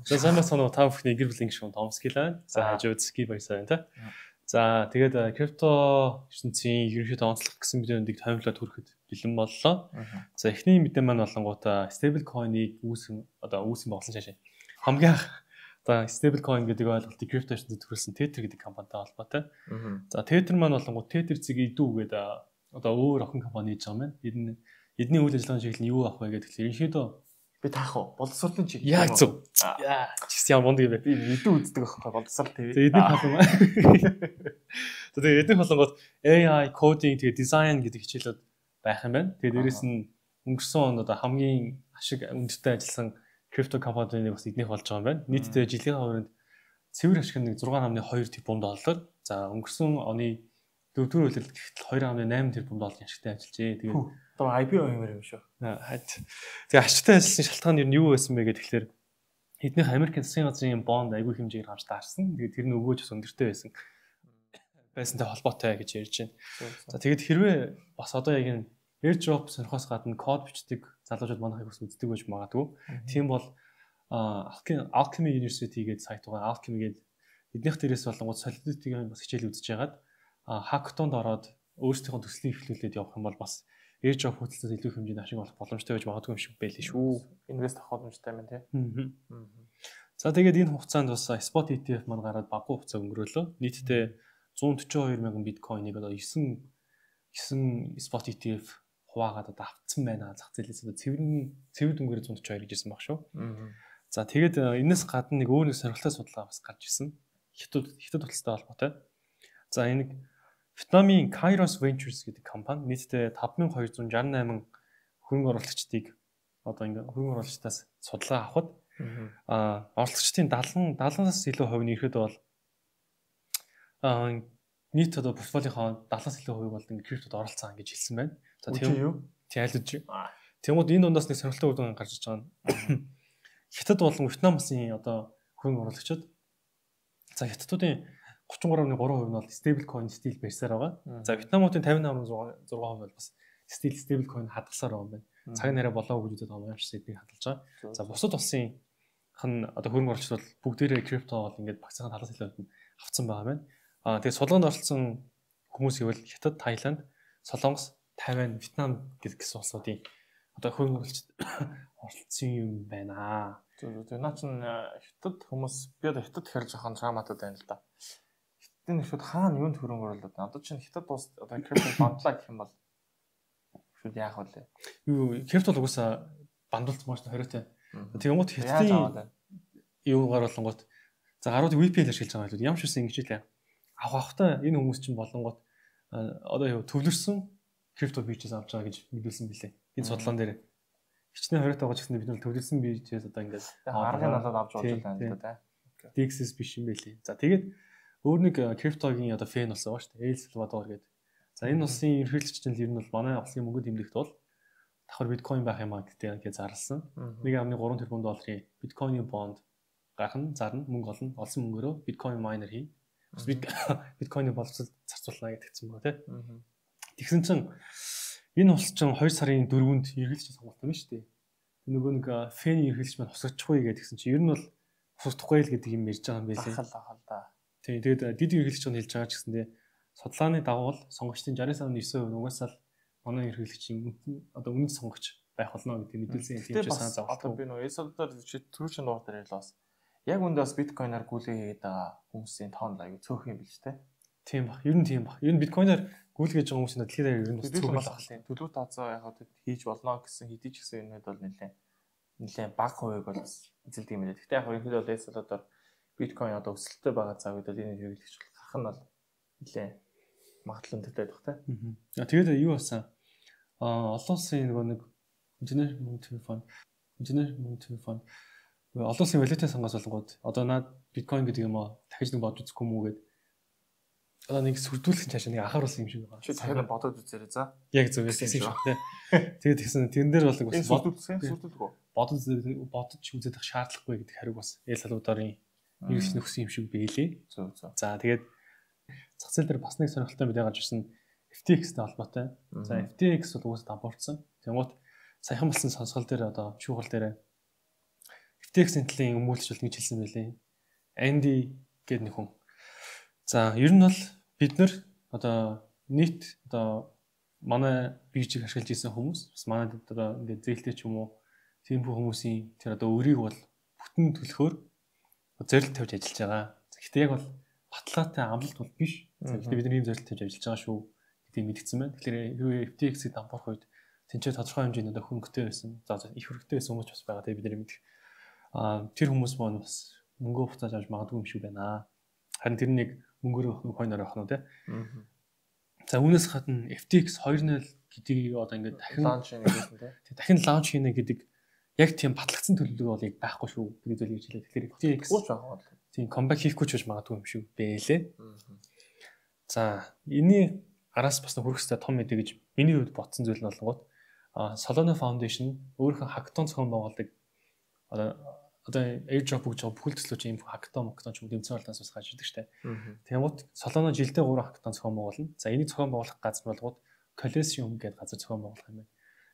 За сайн байна уу та бүхний гэр бүлийн гишүүн Томский байна. За хажууд ски баясаа байна та. За тэгээд крипто ертөнцийн ерөнхийдөө онцлог гэсэн мэдээндийг томилоод хүрэхэд бэлэн боллоо. За эхний мэдээ маань болонгуудаа стейбл койныг үүсгэн болсон шашаа. Хамгийн анх стейбл койн гэдэг ойлголтыг крипто ертөнцид төрүүлсэн Tether гэдэг компанитай холбоотой. За Tether маань болонгууд Tether зэг идүү гэдэг өөр охин компани хийж байгаа юм байна. Эдний үйл ажиллагааны чиглэл нь юу авах вэ гэдэг тэгэхээр ерөнхийдөө би таах уу? Боловсролын чиглэл. Яг зөв. Чис яа монд юм бэ? Би мэдээ үздэг байхгүй боловсрол TV. Тэгээд эдний халуун. Тэгээд эдний халуунгууд AI, coding, тэгээд design гэдэг хичээлүүд байх юм байна. Тэгээд дээрэс нь өнгөрсөн онд хамгийн ашиг өндөртэй ажилласан крипто компаниуд бас эднийх болж байгаа юм байна. Нийтдээ жилийн хувьд цэвэр ашиг нь 6.2 тэрбум доллар. За өнгөрсөн оны 4-р үйлрэлт гэтэл 2.8 тэрбум долларын ашигтай ажиллажээ. Тэгээд одоо IPO юмэр юм шүү. Тэгээ ашигтай ажилласан шалтгаан нь юу байсан бэ гэхээр эднийх Америкийн засгийн газрын бонд аягүй хэмжээгээр хамж таарсан. Тэгээд тэр нь өгөөж бас өндөртэй байсантай холбоотой гэж ярьж байна. За тэгээд хэрвээ бас одоо яг энэ airdrop сонирхоос гадна код бичдэг залуучууд манайхыг бас үздэг байж магадгүй. Тийм бол Alchemy University гэдэг сайт байгаа. Alchemy гэдэг эднийх дээрээс болонгууд solidity-ийн бас хичээл үзэж яагаад hackathon-д ороод өөрсдийнхөө төслийг эхлүүлээд явах юм бол бас airdrop хөтөлсөд илүү хэмжээний ашиг олох боломжтой байж магадгүй юм шиг байлээ шүү. Инвест авах боломжтой юм тий. За тэгээд энэ хугацаанд бас spot ETF маань гараад багуу хугацаа өнгөрөөлөө. Нийтдээ 142 мянган биткойныг одоо 9 spot ETF хуваагаад одоо автсан байна. Зах зээлээс одоо цэвэр дүнгээр 142 гэж ирсэн баг шүү. За тэгээд энэс гадна нэг өөр нэг сонирхолтой судалгаа бас гарч ирсэн. Хятад утастай холбоотой. За энэ Вьетнамын Kairos Ventures гэдэг компани нийтдээ 5268 хөрөнгө оруулагчдыг одоо ингээ хөрөнгө оруулагчдаас судалгаа авахад оруулагчдын 70-аас илүү хувь нь ирэхэд бол нийт одоо портфолиохоо 70-аас илүү хувийг бол ингээ криптод оролцсон гэж хэлсэн байна. За тийм юу? Тайлж. Тэгмүүд энэ дундаас нэг сонирхолтой үр дүн гарч иж байгаа нь Хятад болон Вьетнам улсын одоо хөрөнгө оруулагчид за хятадуудын 33.3% нь бол stable coin стил барьсаар байгаа. За Вьетнамуудын 58.6% бол бас stable coin хадгалсаар байгаа юм байна. Цаг нараа болоогүй гэж байгаа юм шиг эднийг хадгалж байгаа. За бусад улсын одоо хөрөнгө оруулагчид бол бүгдээрээ крипто бол ингээд багцхан талаас илүү авцсан байгаа байна. Тэгээд судалгаанд оролцсон хүмүүс ивэл Хятад, Таиланд, Солонгос, Тайвань, Вьетнам гэсэн улсуудын одоо хөрөнгө оруулагчид оролцсон юм байна. Тэгээд наа чин Хятад хүмүүс би одоо Хятад хэрж ахын шааматад байна л да. Энэ шууд хаана юунд хөрөнгө оруулаад байна? Одоо чинь Хятад улс одоо крипто бандлаа гэх юм бол шууд яах вэ? Юу крипто угаасаа бандуулсан маш хориотой. Тэгмүүд Хятадын юугаар болонгууд за гарууд VPN-ээр шилж байгаа юм. Ямар ч үсэн ингэж хэлээ. Авахтай энэ хүмүүс чинь болонгууд одоо төвлөрсөн крипто бичээс авч байгаа гэж мэдүүлсэн билээ. Энэ судлаан дээр хичнээн хориотой байгаа ч гэсэн бид нар төвлөрсөн бичээс одоо ингээд аргыг надад авч болж байна да. DXS биш юм байлээ. За тэгээд өөр нэг криптогийн одоо фэн болсон байгаа шүү дээ. Эл Салвадор гэдэг. За энэ улсын ерөнхийлөгч нь ер нь бол манай улсын мөнгөнд тэмдэгт бол давхар биткойн байх юм а гэдэг зарласан. 1.3 тэрбум долларын биткойны бонд гарах нь зарна мөнгө олно. Олсон мөнгөөрөө биткойн майнер хийн. Бас биткойны боловсрол зарцуулна гэдгийгсэн байгаа тийм. Тэгсэн чинь энэ улс чинь 2 сарын 4-нд ерөнхийлөгч сонголт юм шүү дээ. Нөгөө нэг фэн ерөнхийлөгч маань хусгачихгүй гэдгийгсэн чинь ер нь бол хусгахдаггүй л гэдэг юм ярьж байгаа юм байлээ. Ахал да. Тэгээд дид ерөнхийлөгч нь хэлж байгаа ч гэсэндээ судалгааны дагуу сонгогчдын 69.9% угаасаа л манай ерөнхийлөгчийн одоо үнэт сонгогч байх болно гэдэг мэдүүлсэн юм чинь санаа зовлоо. Одоо би нөгөө эсэлдэр түрүүчийн дугаар дээр хэлээс яг үндэ бас биткойноор гүйлгээ хийгээд байгаа хүмүүсийн тоон аягүй цөөх юм биш үү? Тийм баг. Ер нь тийм баг. Ер нь биткойноор гүйлгээж байгаа хүмүүсийн дэлхийд ер нь цөөх байх. Төлөв таацаа яг хийж болно гэсэн хэдий ч гэсэн юмуд бол нэлээд бага хувийг бол эзэлдэг юм байна. Гэхдээ яг ерөнхийдөө бол эсэлдэр биткойн одоо өсөлттэй байгаа цаг үед бол энэ хэрэглэгч гарах нь бол нэлээд магадлалтай байх тийм. Тэгээд юу басан? Олон улсын нэг инженер мөнгө телефон олон улсын валютын сангаас болонгууд одоо наад биткойн гэдэг юм аа дахиж нэг бодож үзэхгүй мүү гэд одоо нэг сүрдүүлэх цаашаа нэг анхааруулсан юм шиг байгаа. Чи дахиад бодоод үзээрэй за. Яг зөв байсан юм шиг тийм. Тэгээд тэгсэн тэрэн дээр бол бас сүрдүүлэхгүй. Бодож үзэх шаардлагагүй гэдэг хариуг бас Эл Салвадорын нэгс нөхсөн юм шиг байлээ. Зөв. За тэгээд зах зээл дээр бас нэг сонирхолтой мэдээ гарч ирсэн FTX-тэй холбоотой. За FTX бол угаасаа дампуурсан. Тэнгуут саяхан болсон сонсгол дээр одоо шүүхэл дээр FTX-ийн талын өмүүлж нэг хэлсэн байлээ. Andy гэдэг нэг хүн. За ер нь бол бид нар одоо нийт одоо манай биржийг ашиглаж ирсэн хүмүүс бас манай одоо ингээд зээлтэй ч юм уу тийм хүмүүсийн тэр одоо өрийг бол бүтэн төлөхөөр зорилт тавьж ажиллаж байгаа. Гэхдээ яг бол баталгаатай амлалт бол биш. Гэхдээ бид нар ийм зорилт тавьж ажиллаж байгаа шүү гэдгийг мэдгдсэн байна. Тэгэхээр хэрвээ FTX-ийг дампуурах үед тэнцээ тодорхой хэмжээний одоо хөнгөтэй байсан. За их хөрөгтэй байсан хүмүүс бас байгаа. Тэгээ бид нар мэдэх. Тэр хүмүүс маань бас мөнгөө буцааж авч магадгүй юм шиг байна. Харин тэр нэг мөнгөөр хойноор авах нь тий. За үүнээс гадна FTX 2.0 гэдгийг одоо ингээд дахин лаунч хийнэ гэсэн тий. Дахин лаунч хийнэ гэдэг яг тийм батлагдсан төлөвлөгөө бол яг байхгүй шүү гэдэг зүйл гэж хэлээ. Тэгэхээр FTX тийм comeback хийхгүй ч гэж магадгүй юм шиг бэлээ. За энэний араас бас хүрэх хэвээр том мэдээ гэж миний хувьд бодсон зүйл нь болгоод Solana Foundation өөрийнхөө хакатон зохион байгуулдаг одоо airdrop гэж бүхэл төслөө чинь хакатон ч юм дэмцэн болоос бас гарч ирдэг штэ. Тэгмэд Solana жилдээ 3 хакатон зохион байгуулна. За энийг зохион байгуулах газар болгоод Coliseum гэдэг газар зохион байгуулах юм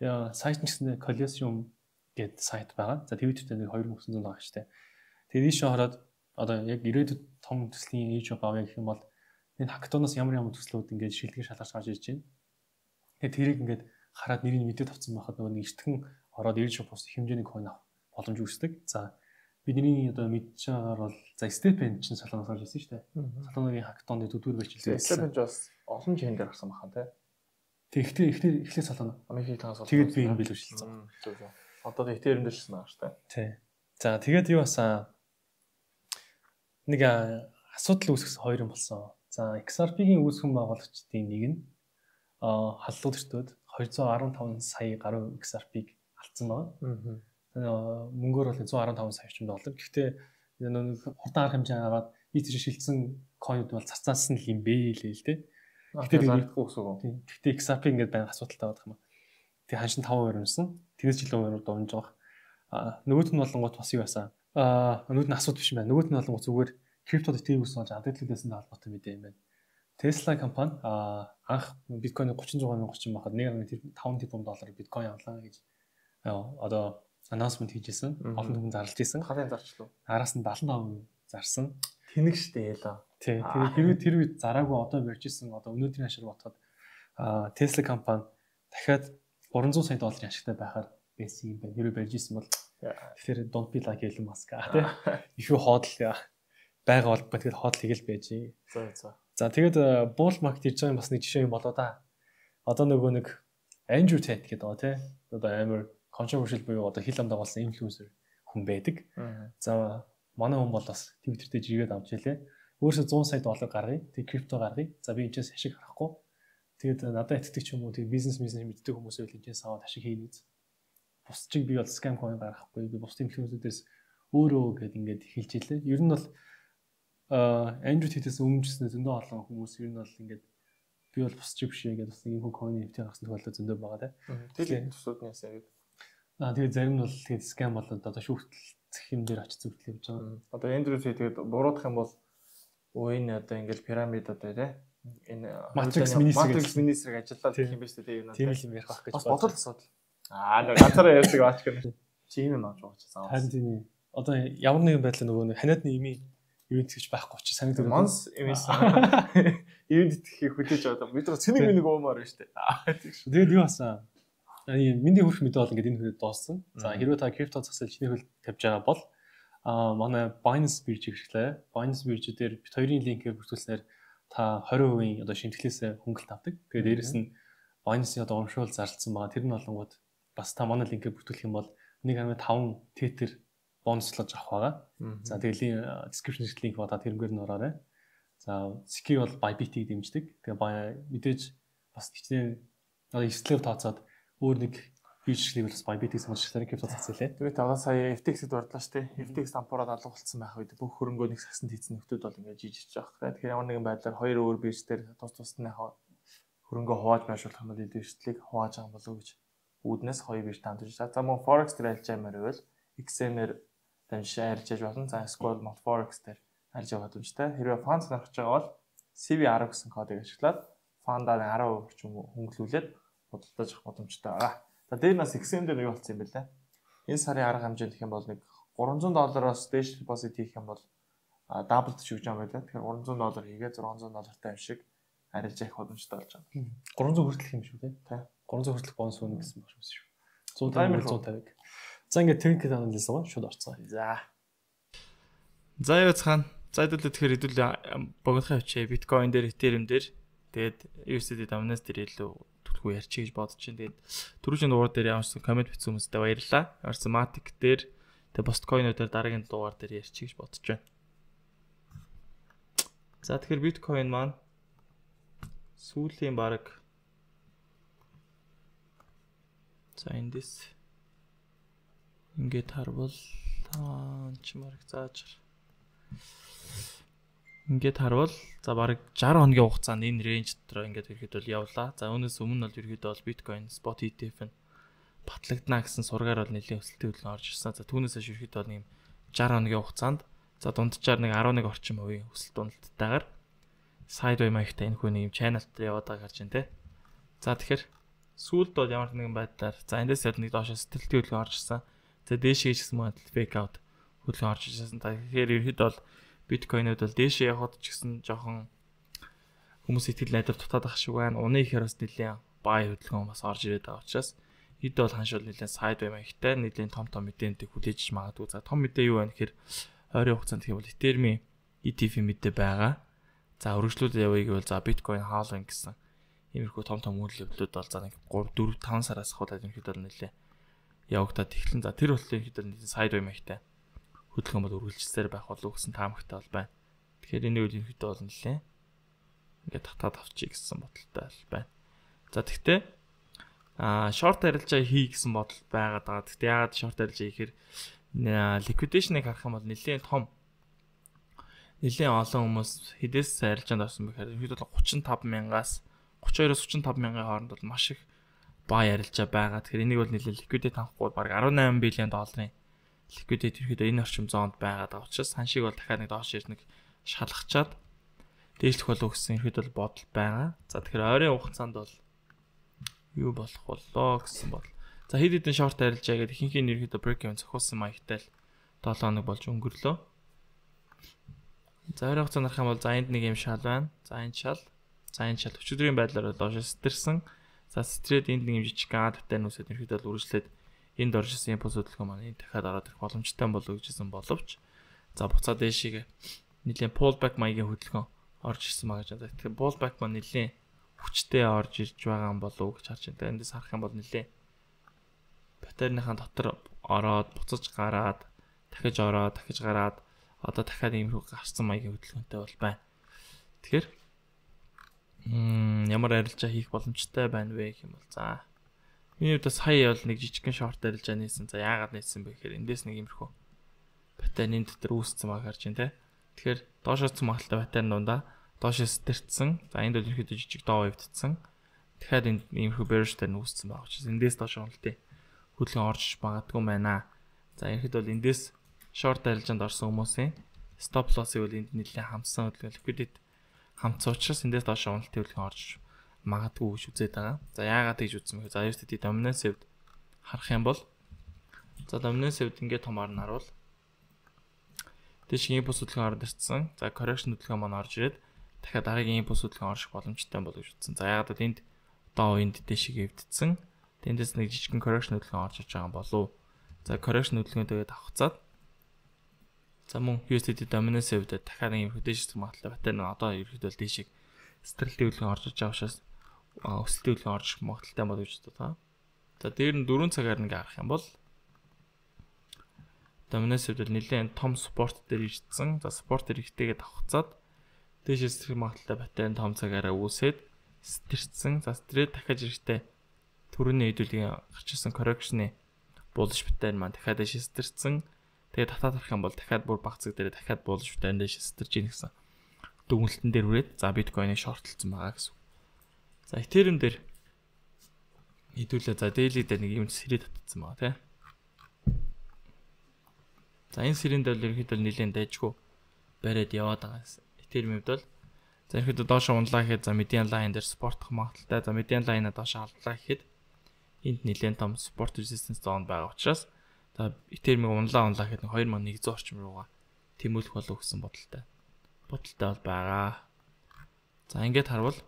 байна. Сайт нь гэсэн Coliseum гэдэг сайт байгаа. За Twitter-тэй нэг 2900 байгаа штэ. Тэгээд ийшээ хараад одоо яг ирээдүйд том төслийн airdrop авъя гэх юм бол энэ хакатоноос ямар төслүүд ингээд шилдэг шалгаж гарч ирж байна. Тэгээд тэрийг ингээд хараад нэрийг мэдээд авсан байхад нөгөө нэг эртхэн ороод airdrop ус хэмжээний coin авах боломж үүсдэг. За бидний одоо мэдж байгаагаар бол за Stephen чинь Solana-аас гарч ирсэн шүү дээ. Solana-гийн хакатоны төдвөр барьж хэлсэн. Stephen ч бас олон жин дээр гарсан бахан тий. Тэг ихлэ Solana. Америкийн тагаас тэгээд би энэ билүүлсэн. Одоо Ethereum дээр шсэн байгаа шүү дээ. Тий. За тэгээд юу басан нэг асуудал үүсгэсэн хоёр юм болсон. За XRP-гийн үүсгэн байгуулагчдын нэг нь халдлагчдод 215 сая гаруй XRP-г алдсан байна. Мөнгөөр бол 115 сая орчим доллар. Гэхдээ нэг хурдан арга хэмжээ аваад ийж шилжсэн coin-ууд бол цацаасан юм бэ л дээ. Гэхдээ зарагдахгүй гэсэн үг. Гэхдээ XRP ингээд байна асуудалтай байдаг юм аа. Тэгээ ханшин 5% юмсан. Тэгээс жилийн 2% дуунж байгаа. Нөгөөт нь болонгот бас юу байсан. Нөгөөт нь асуудал биш юм байна. Нөгөөт нь болонгот зүгээр криптод итгэвс болж алдагдлээсэн холбоотой мэдээ юм байна. Tesla компани анх биткойн 36 мянга орчим байхад 1.5 тэрбум доллар биткойн авлаа гэж одоо announcement хийжсэн. Олон хүмүүс зарлж ирсэн. Хатын зарчлаа. Араас нь 75% зарсан. Тэнэг штэ яла. Тий. Тэгээд тэр үед зараагүй одоо барьж ирсэн. Одоо өнөөдрийн хашир бодоход Tesla компани дахиад 300 сая долларын ашигтай байхаар байсан юм байна. Хэрвээ барьж ирсэн бол тэгэхээр don't be like Elon Musk тий. Ихүү хоодл байгаа бол тэгэл хоодл хийгээл байж. За тэгээд bull market хийж байгаа юм бас нэг жишээ юм болоо да. Одоо нөгөө нэг Andrew Tate гэдэг байгаа тий. Одоо амар controversial буюу одоо хил ам дагуулсан инфлюенсер хүн байдаг. За манай хүн бол бас Twitter дээр жигээд авч ялээ. Өөрөөсөө 100 сая доллар гаргая. Тэг крипто гаргая. За би энэчээс ашиг харахгүй. Тэгээд надад итгэдэг ч юм уу тэг бизнес мэддэг хүмүүс байл энэчээс аваад ашиг хийнэ гэж. Бус чиг би бол scam coin гаргахгүй. Би бус инфлюенсерээс өөрөө гэд ингээд хэлж ялээ. Ер нь бол Andrew Tate-с өмнөжснээ зөндөө олон хүмүүс ер нь бол ингээд би бол бус чиг биш гэдэг бас нэг юм coin NFT гаргасан тохиолдол зөндөө байгаа те. Тэгээд төсөөднөөс яг тэгээд зарим нь бол тэгээд scam болоод одоо шүүхтэлцэх юм дээр очиж зүгтэл явж байгаа. Одоо Andrew Tate тэгээд буруутах юм бол энэ одоо ингээд пирамид одоо тий энэ Matrix Minister-ыг ажиллаад гэх юм байна шүү дээ. Тийм л юм ярих байх гэж бодсон. Бодол асуудал. Нэг ганцаараа ярьдаг баач гэнэ. Чи юм ааж байгаа ч заавал. Харин тийм. Одоо ямар нэгэн байдлаар нөгөө ханиадны имийн ивент гэж байхгүй ч санагдав. Монс имээс ивент итгэхийг хүлээж аваад бид нар цэнийг нэг уумаар байна шүү дээ. Тэгээд юу басан? Миний хөрх мэдээ бол ингээд энэ хүрээд дууссан. За хэрвээ та крипто засал чиний хөл тавьж байгаа бол манай Binance биржийг хэрэглээ. Binance бирж дээр бит хоёрын линкээр бүртгүүлснээр та 20% одоо шимтгэлээс хөнгөлт авдаг. Тэгээд дээрэс нь Binance-ийн одоо урамшуул зарлцсан байгаа. Тэр нь болонгууд бас та манай линкээр бүртгүүлэх юм бол 1.5 тетер бонуслож авах байгаа. За тэгээд description линк бодоод тэрнгээр нь ороорой. За Siki бол Bybit-ийг дэмждэг. Тэгээд мэдээж бас хичнээн одоо 9 тооцоод өөр нэг биржлийг бас Bybit-ийг сонирхсан крипто цацлаа. Тэгээд одоо сая FTX-д орлоо шүү дээ. FTX дампуураад алга болцсон байх үед бүх хөрөнгөө нэг сагсанд хийсэн нөхдүүд бол ингээд жижигч байгаа. Тэгэхээр ямар нэгэн байдлаар хоёр өөр бирж дээр тус тусны хөрөнгөө хувааж байршуулах юм бол эдгэрчлийг хувааж байгаа болов уу гэж үүднээс хоёр бирж таамдж байгаа. За мөн Forex дээр ажиллаж байгаа мөрөөл XM-ээр дамжиж арилжээж болно. За Squall мод Forex дээр арилж байгаа боломжтой. Хэрвээ фанд сонирхож байгаа бол CV10 гэсэн кодыг ашиглаад фандаа 10% орчим хөнгөлүүлээд худалдаж авах боломжтой байгаа. За дээр нас XM дээр юу болсон юм бэ лээ? Энэ сарын арга хэмжээ гэх юм бол нэг $300-аас дээш депозит хийх юм бол даблд ч өгч байгаа байлаа. Тэгэхээр $300 хийгээ $600 юм шиг арилж явах боломжтой болж байгаа. 300 хүртэлх юм шүү тий. 300 хүртэлх бонус өгнө гэсэн баг шүү. 150 150. За ингээд техникийн анализ байгаа шууд орцгоо. За яа цаана. За хэдүүлээ тэгэхээр богинохын авчээ биткойн дээр, этериум дээр тэгээд USD dominance дээр илүү төлхөө ярьчих гэж бодож байна. Тэгээд түрүүчийн дугаар дээр ямарсан комент бичсэн хүмүүстээ баярлалаа. Ямарсан Matic дээр тэгээд Postcoin-уудаар дараагийн дугаар дээр ярьчих гэж бодож байна. За тэгэхээр биткойн маань сүүлийн баг за эндээс ингээд харвал чимэрэг зааж ингээд харвал за баг 60 хоногийн хугацаанд энэ рейнж дотор ингээд ирэхэд бол явлаа. За үүнээс өмнө бол ирэхэд бол биткойн spot ETF нь батлагдана гэсэн сургаар бол нэлийн өсөлтийн хөдөлгөөн орж ирсэн. За түүнээс хойш ирэхэд бол ийм 60 хоногийн хугацаанд за дунджаар нэг 11 орчим хувийн өсөлт уналттайгаар sideway маягтай энэ хүний ийм channel дээр яваад байгааг харж байна те. За тэгэхээр сүүлд бол ямар нэгэн байдлаар за эндээс яг нэг доошо сэтгэлтийн хөдөлгөөн орж ирсэн. За дээшээ ч гэсэн мөн fake out хөдөлгөөн орж ирсэн. Тэгэхээр ирэхэд бол биткойнууд бол дээшээ явахд ч гэсэн жоохон хүмүүс итгэл найдвар дутаад ах шиг байна. Уны ихээр бас нэлийн buy хөдөлгөөн бас орж ирээд байгаа учраас хэд бол ханшуул нэлийн sideway маягтай нэлийн том мэдээнтэй хүлээж магадгүй. За том мэдээ юу вэ гэхээр ойрын хугацаанд гэвэл Ethereum ETF мэдээ байгаа. За өргөжлүүд явъя гэвэл за биткойн хаалгын гэсэн иймэрхүү том үйлдэлүүд бол за нэг 3 4 5 сараас хаваад ерөнхийд бол нэлээ явагдаад эхлэн. За тэр болтой ерөнхийд бол sideway маягтай хөдөлгөөн бол үргэлжилсээр байх болов гэсэн таамагтай бол байна. Тэгэхээр энэ үйл ерөнхийд бол нэлээ ингээд татаад авчий гэсэн бодолтой байна. За тэгтээ short арилжаа хий гэсэн бодол байгаад байгаа. Тэгтээ яагаад short арилжаа хийхээр liquidation-ыг харах юм бол нэлээ том нэлээд олон хүмүүс хэдээс арилжаанд орсон бэхээр ерөнхийдөө 35,000-аас 32-оос 35,000-ын хооронд бол маш их buy арилжаа байгаа. Тэгэхээр энийг бол нэлээд liquidate авахгүй баг $18 billion liquidate ерөнхийдөө энэ орчим зоонд байгаад байгаа учраас ханшиг бол дахиад нэг доош ирнэг шалгачаад дээшлэх болов гэсэн ерөнхийдөө бодол байгаа. За тэгэхээр ойрын хугацаанд бол юу болох болоо гэсэн бодол. За хэд хэдэн short арилжаа гэдэг ихэнх нь ерөнхийдөө break-even зохиосон маягтай л 7 хоног болж өнгөрлөө. За ойрын хугацаанд харах юм бол за энд нэг юм шал байна. За энэ шал өчигдрийн байдлаар доош сэтэрсэн. За стрээд энд нэг юм жижиг гадтай нүсэд ерөөдөө үргэлжлээд энд орж ирсэн импульс хөдөлгөөн маань энэ дахиад ороод ирэх боломжтой болов гэжсэн боловч за буцаад дэшигээ нэлийн pullback маягийн хөдөлгөөн орж ирсэн маа гэж байна. Тэгэхээр pullback маань нэлийн хүчтэй орж ирж байгаа юм болов гэж харж байна. Эндээс харах юм бол нэлийн батарейныхаа дотор ороод буцаж гараад дахиж ороод дахиж гараад одоо дахиад иймэрхүү гарсан маягийн хөдөлгөөнтэй бол байна. Тэгэхээр ямар арилжаа хийх боломжтой байна вэ гэх юм бол за миний хувьд сая бол нэг жижигхэн short арилжаа нээсэн. За яагаад нээсэн бэ гэхээр эндээс нэг иймэрхүү батарейн дотор үүссэн маяг харж байна те. Тэгэхээр доошоос цумгаалтай батарейн дундаа доошоос сэтэрсэн. За энд бол ерөөдөө жижиг доо өвдсөн. дахиад энэ иймэрхүү bearish дээр нүүссэн байгаа учраас эндээс доош уналтын хөдөлгөөн орж магадгүй байна. За ерхэд бол эндээс short арилжаанд орсон хүмүүсийн stop loss-ыг бол энд нэлээд хамсан хөдөлгөөн liquidate хамтсан учраас эндээс доош уналтын хөдөлгөөн орж магадгүй гэж үзээд байгаа. За яагаад гэж үзсэн бэ? За USD dominance-д харах юм бол за dominance-д ингээд томоор нь харуул. Дэшгийн импульс хөдөлгөөн орж ирсэн. За correction хөдөлгөөн маань орж ирээд дахиад дараагийн импульс хөдөлгөөн орох боломжтой болов гэж үзсэн. За яагаад гэвэл энд доо энд дэшиг эвдсэн. Тэндээс нэг жижигхэн correction хөдөлгөөн орж иж байгаа болов. За correction хөдөлгөөн тэгээд авахцаад за мөн USD dominance-д дахиад нэг юм дэшиг магадлал батарей одоо ерөөдөө дэшиг стрэлтийн хөдөлгөөн орж иж байгаа учраас өсөлтийн хөдөлгөөн орж магадaltaй болов гэж бодлоо. За дээр нь 4 цагаар нэг харах юм бол dominance-д нэлээд том support дээр ирсэн. За support дээр ихтэйгээд авахцаад дэшээс стрэл магадлалтай батарей том цагаараа үүсээд стэрсэн. За стрэл дахиад ирэхтэй түрүүний хэдүүлгийн гарч ирсэн correction-ы булш батарей маань дахиад дэшээс стэрсэн. Тэгээд татаад харах юм бол дахиад бүр багцэг дээр дахиад булш батарей дэшээс стэрж ийн гэсэн дүгнэлтэн дээр үрээд за биткойныг шортлцсон байгаа гэсэн. За Ethereum дээр хэдүүлээ за daily дээр нэг юм сэрээ татсан байгаа тийм. За энэ сэрийн дээр ерөнхийдөө нэлийн дайжгүй бариад яваад байгаа. Ethereum-д бол за ерөнхийдөө доошо унлаа гэхэд за median line дээр спортох магадaltaй. За median line-а доошо алдлаа гэхэд энд нэлийн том support resistance zone байгаа учраас За Ethereum-ыг унлаа гэхэд 2100 орчим руугаа тэмүүлэх болов гэсэн бодолтой. Бодолтой бол байгаа. За ингээд харвал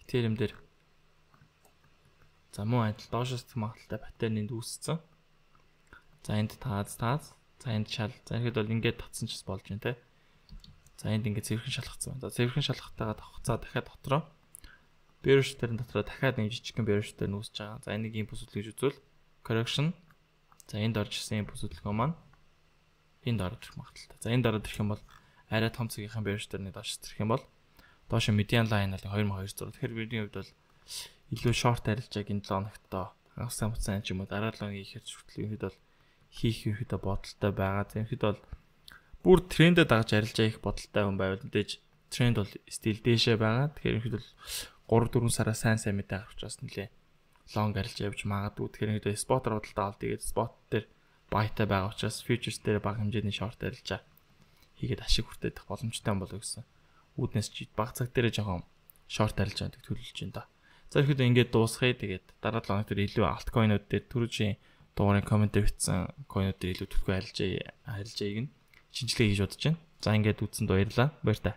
Ethereum дээр за муу адил доошоос магадaltaй паттерн энд үүссэн. За энд тааз. За энд шал. За ихэд бол ингээд татсан ч болж байна те. За энд ингээд цэвэрхэн шалгацсан байна. За цэвэрхэн шалгахтайгаа давхцаа дахиад дотроо bear share-ын дотроо дахиад нэг жижигхэн bear share нүүсэж байгаа. За энийг импульс хөдөлгөж үзвэл correction. За энд орж ирсэн импульс хөдөлгөөн маань энд орж ирэх магадaltaй. За энд ороод ирэх юм бол арай том цагийнхаа bear share-ыг доош ирэх юм бол доош median line бол 2200. Тэгэхээр бидний хувьд бол илүү short арилжааг энэ 7 хоногт хагассан хугацаанд ч юм уу дараа 7 хоногийн ихээр хүртэл ихэд бол хийх ерөөдөө бодолтой байгаа. Тэгэхэд бол бүр трендэд дагаж арилжаа их бодолтой хүн байвал мэдээж тренд бол стил дээшээ байгаа. Тэгэхээр ихэд бол 3-4 сараа сайн мэдээ гарч бас нэлээ long арилжаа явж магадгүй. Тэгэхээр ихэд спотер бодолтой авал тэгээд спот дээр байтай байгаа учраас futures дээр бага хэмжээний short арилжаа хийгээд ашиг хүртэх боломжтой болов гэсэн. Үүднээс ч баг цаг дээр жоохон short арилжаанд төлөвлөж байна да. За ихэд ингээд дуусгая. Тэгээд дараа 7 хоног дээр илүү альткойнууд дээр түрүүчийн дугаарыг комментээр бичсэн койнууд дээр илүү төлхөө арилжааг нь шинжилгээ хийж бодож байна. За ингээд үзсэнд баярлалаа. Баяр та.